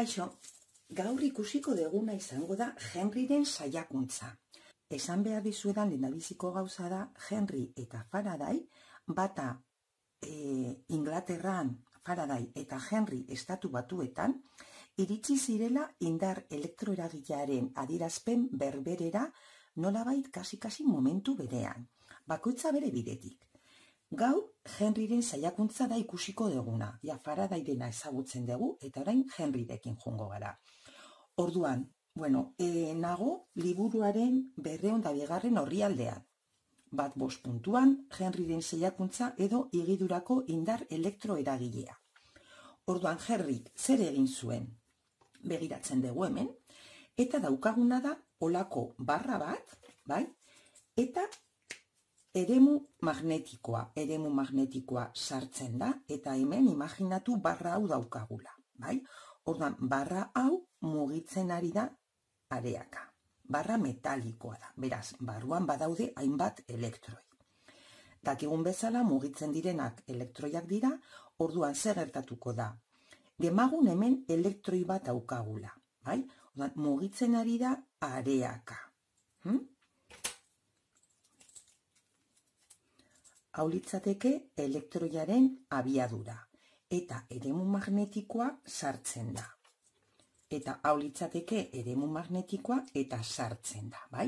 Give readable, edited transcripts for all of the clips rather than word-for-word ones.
Kaixo, gaur ikusiko deguna izango da Henryren saiakuntza. Esan behar dizuedan lehendabiziko gauza da Henry eta Faraday, bata Inglaterran Faraday eta Henry estatu batuetan, iritsi zirela indar elektroeragilearen adierazpen berberera nolabait kasi momentu berean, bakoitza bere bidetik. Gaur, Henryren saiakuntza da ikusiko deguna, Faradayrena ezagutzen dugu, eta orain Henryrekin joango gara. Orduan, nago liburuaren 202. orrialdean. 1.5 puntuan, Henryren saiakuntza edo igidurako indar elektroeragilea. Orduan, Henryk zer egin zuen? Begiratzen dugu hemen, eta daukaguna da olako barra bat, bai? Eta eremu magnetikoa sartzen da, eta hemen imaginatu barra hau daukagula, bai? Orduan, barra hau mugitzen ari da areaka. Barra metalikoa da, beraz, barruan badaude hainbat elektroi. Dakigun bezala mugitzen direnak elektroiak dira, orduan zer gertatuko da? Demagun hemen elektroi bat daukagula, bai? Orduan, mugitzen ari da areaka. Hau litzateke elektroiaren abiadura, eta eremu magnetikoa sartzen da. Eta hau litzateke eremu magnetikoa eta sartzen da, bai?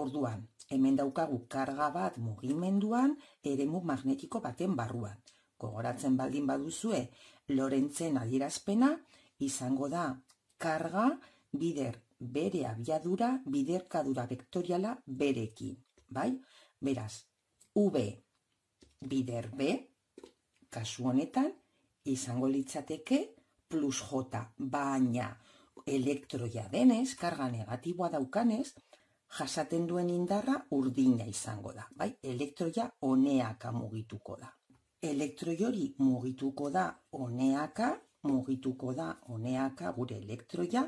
Orduan, hemen daukagu karga bat mugimenduan eremu magnetiko baten barruan. Gogoratzen baldin baduzue, Lorentzen adierazpena izango da karga bider bere abiadura, biderkadura vektoriala berekin, bai? Beraz, V bider B, kasu honetan, izango litzateke plus J, baina elektroia denez, karga negatiboa daukanez, jasaten duen indarra urdina izango da, bai? Elektroia honeaka mugituko da. Elektroi hori mugituko da honeaka gure elektroia,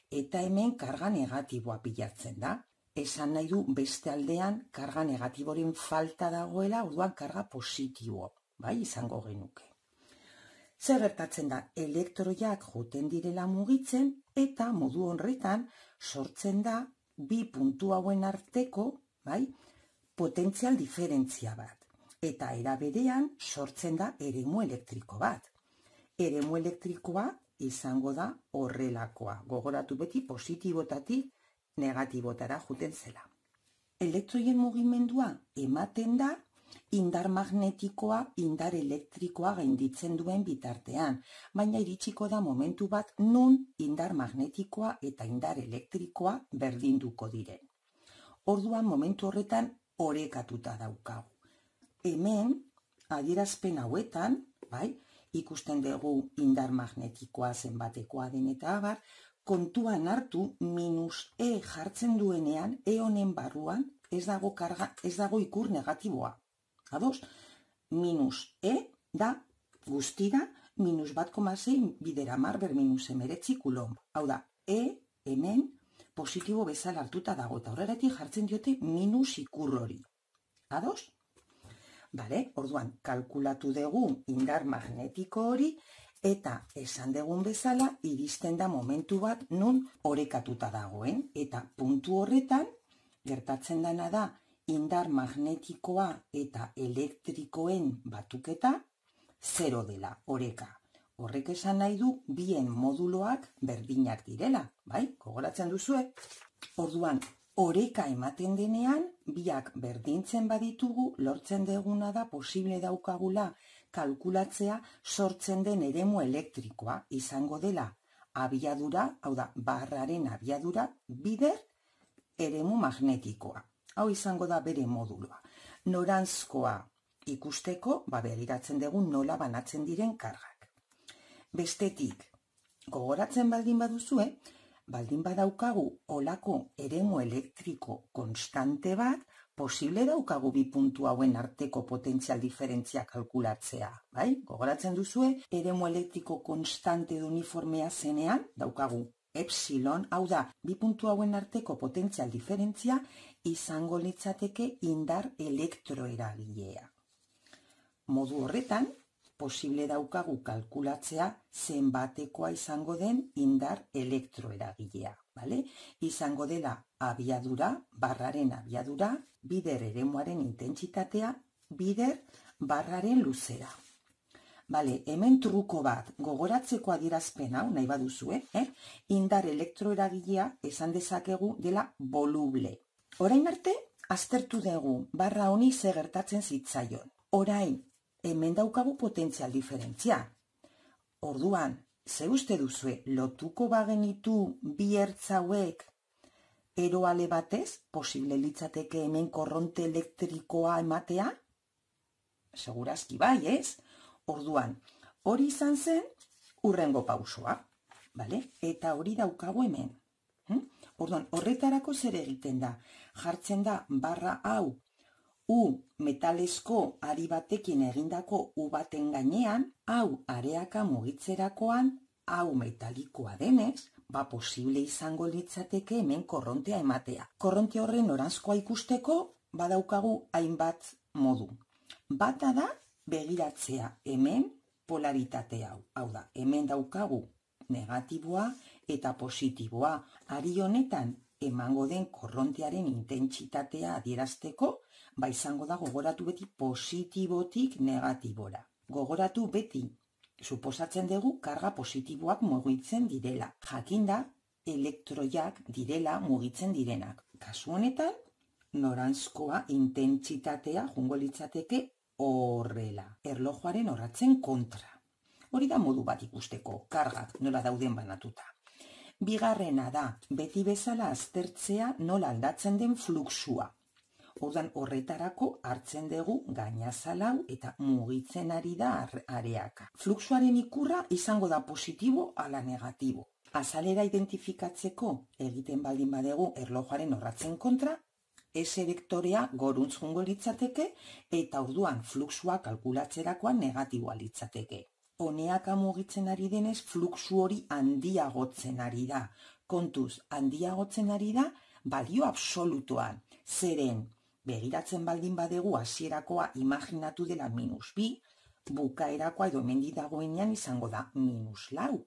eta hemen karga negatiboa pilatzen da. Esan nahi du beste aldean karga negatiboren falta dagoela, orduan karga positibo, bai, izango genuke. Zer gertatzen da, elektroiak joten direla mugitzen, eta modu horretan sortzen da bi puntu hauen arteko, bai, potentzial diferentzia bat. Eta era berean sortzen da eremu elektriko bat. Eremu elektrikoa izango da horrelakoa. Gogoratu beti positibotatik negatibotara juten zela. Elektroien mugimendua ematen da indar magnetikoa, indar elektrikoa gainditzen duen bitartean, baina iritsiko da momentu bat nun indar magnetikoa eta indar elektrikoa berdinduko diren. Orduan momentu horretan orekatuta daukagu. Hemen, adierazpen hauetan, bai, ikusten dugu indar magnetikoa zenbatekoa den eta abar, kontuan hartu -E jartzen duenean, honen barruan ez dago ikur negatiboa. Ados, -E da guztira -1,6 bider 10 ber -19 kulomb. Hau da, hemen positibo bezala hartuta dago, eta horregatik jartzen diote minus ikur hori. Ados? Bale, orduan, kalkulatu dugu indar magnetiko hori, eta esan dugun bezala, iristen da momentu bat nun orekatuta dagoen, eta puntu horretan, gertatzen dena da, indar magnetikoa eta elektrikoen batuketa, 0 dela, oreka. Horrek esan nahi du, bien moduloak berdinak direla, bai? Gogoratzen duzue? Orduan, oreka ematen denean, biak berdintzen baditugu, lortzen deguna da posible daukagula kalkulatzea sortzen den eremu elektrikoa izango dela abiadura, hau da, barraren abiadura, bider eremu magnetikoa. Hau izango da bere moduloa. Noranzkoa ikusteko, begiratzen dugu nola banatzen diren kargak. Bestetik, gogoratzen baldin baduzue, baldin badaukagu olako eremu elektriko konstante bat, posible daukagu bi puntu hauen arteko potentzial diferentzia kalkulatzea, bai? Gogoratzen duzue, eremu elektriko konstante uniformea zenean, daukagu epsilon, hau da, bi puntu hauen arteko potentzial diferentzia izango litzateke indar elektroeragilea. Modu horretan, posible daukagu kalkulatzea zenbatekoa izango den indar elektroeragilea, bale? Izango dela abiadura, barraren abiadura, bider eremuaren intentsitatea, bider barraren luzera. Bale, hemen truko bat, gogoratzeko adierazpen hau, nahi baduzue, indar elektroeragilea esan dezakegu dela voluble. Orain arte, aztertu dugu, barra honi ze gertatzen zitzaion. Orain, hemen daukagu potentzial diferentzia. Orduan, ze uste duzue, lotuko bagenitu bi ertz hauek eroale batez, posible litzateke hemen korronte elektrikoa ematea? Segurazki bai, ez? Orduan, hori izan zen hurrengo pausoa, bale? Eta hori daukagu hemen. Orduan, horretarako zer egiten da? Jartzen da barra hau U metalesko ari batekin egindako U baten gainean, hau areaka mugitzerakoan, hau metalikoa denez, posible izango litzateke hemen korrontea ematea. Korronte horren noranzkoa ikusteko, badaukagu hainbat modu. Bata da, begiratzea hemen polaritate hau. Hau da, hemen daukagu negatiboa eta positiboa. Ari honetan emango den korrontearen intentsitatea adierazteko, izango da gogoratu beti positibotik negatibora. Gogoratu beti, suposatzen dugu karga positiboak mugitzen direla. Jakinda, elektroiak direla mugitzen direnak. Kasu honetan, noranzkoa intentsitatea jungo litzateke horrela, erlojuaren orratzen kontra. Hori da modu bat ikusteko, kargak nola dauden banatuta. Bigarrena da, beti bezala aztertzea nola aldatzen den fluxua. Ordan horretarako hartzen dugu gainazalau eta mugitzen ari da areaka. Fluxuaren ikurra izango da positibo ala negatibo. Azalera identifikatzeko egiten baldin badegu erlojuaren orratzen kontra, S-vektorea goruntz jungo litzateke eta orduan fluxua kalkulatzerakoan negatiboa litzateke. Honeaka mugitzen ari denez fluxu hori handiagotzen ari da. Kontuz, handiagotzen ari da balio absolutoan. Zeren, begiratzen baldin badegu hasierakoa imaginatu dela -2, bukaerakoa edo hemendik dagoenean izango da -4.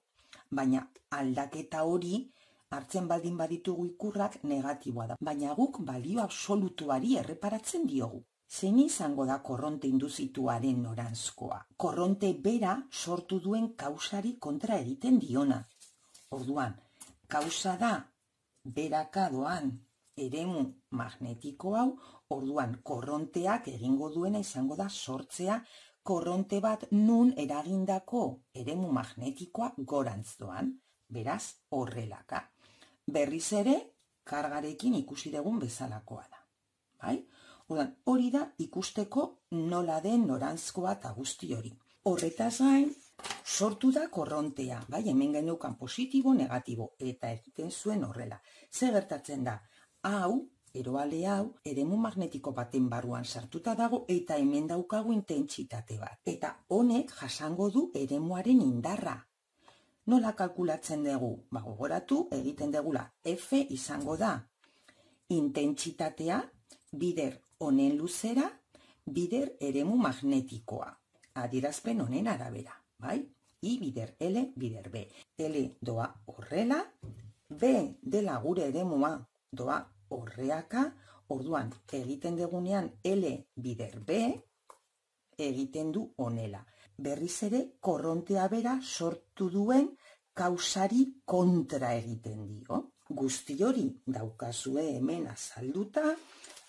Baina aldaketa hori hartzen baldin baditugu ikurrak negatiboa da. Baina guk balio absolutuari erreparatzen diogu. Zein izango da korronte induzituaren noranzkoa? Korronte bera sortu duen kausari kontra egiten diona. Orduan, kausa da beraka doan eremu magnetiko hau, orduan korronteak egingo duena izango da sortzea korronte bat nun eragindako eremu magnetikoa gorantz doan, beraz horrelaka. Berriz ere, kargarekin ikusi dugun bezalakoa da. Bai? Orduan, hori da ikusteko nola den noranzkoa eta guzti hori. Horretaz gain, sortu da korrontea, bai? Hemen geneukan positibo, negatibo, eta egiten zuen horrela. Ze gertatzen da? Hau, eroale hau, eremu magnetiko baten barruan sartuta dago eta hemen daukagu intentsitate bat. Eta honek jasango du eremuaren indarra. Nola kalkulatzen dugu? Gogoratu egiten dugula. F izango da intentsitatea, bider honen luzera, bider eremu magnetikoa. Adierazpen honen arabera, bai? I bider L, bider B. L doa horrela, B dela gure eremua doa horreaka, orduan egiten dugunean L bider B, egiten du honela. Berriz ere, korrontea bera sortu duen kausari kontra egiten dio. Guzti hori daukazue hemen azalduta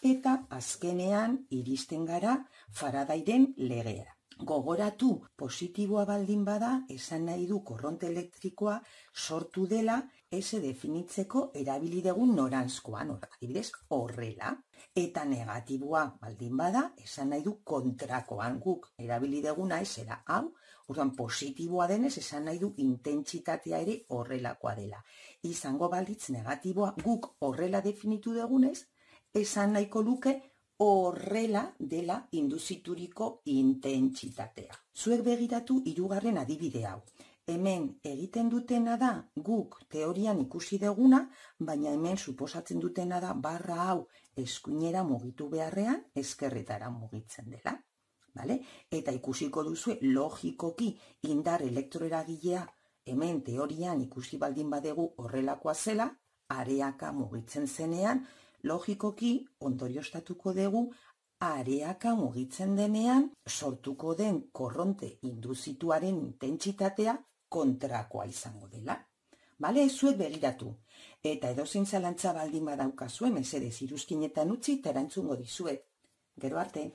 eta azkenean iristen gara Faradayren legera. Gogoratu, positiboa baldin bada, esan nahi du korronte elektrikoa sortu dela S definitzeko erabili dugun noranzkoan, adibidez horrela. Eta negatiboa baldin bada, esan nahi du kontrakoan guk erabili duguna esera hau, orduan positiboa denez esan nahi du intentsitatea ere horrelakoa dela. Izango balitz negatiboa guk horrela definitu dugunez, esan nahiko luke horrela dela induzituriko intentsitatea. Zuek begiratu hirugarren adibide hau. Hemen egiten dutena da guk teorian ikusi duguna, baina hemen suposatzen dutena da barra hau eskuinera mugitu beharrean ezkerretara mugitzen dela. Bale? Eta ikusiko duzu logikoki indar elektroeragilea hemen teorian ikusi baldin badegu horrelakoa zela, areaka mugitzen zenean, logikoki ondorioztatuko dugu areaka mugitzen denean sortuko den korronte induzituaren intentsitatea kontrakoa izango dela. Bale, zuek begiratu. Eta edozein zalantza baldin badaukazue, mesedez iruzkinetan utzi eta erantzungo dizuet. Gero arte.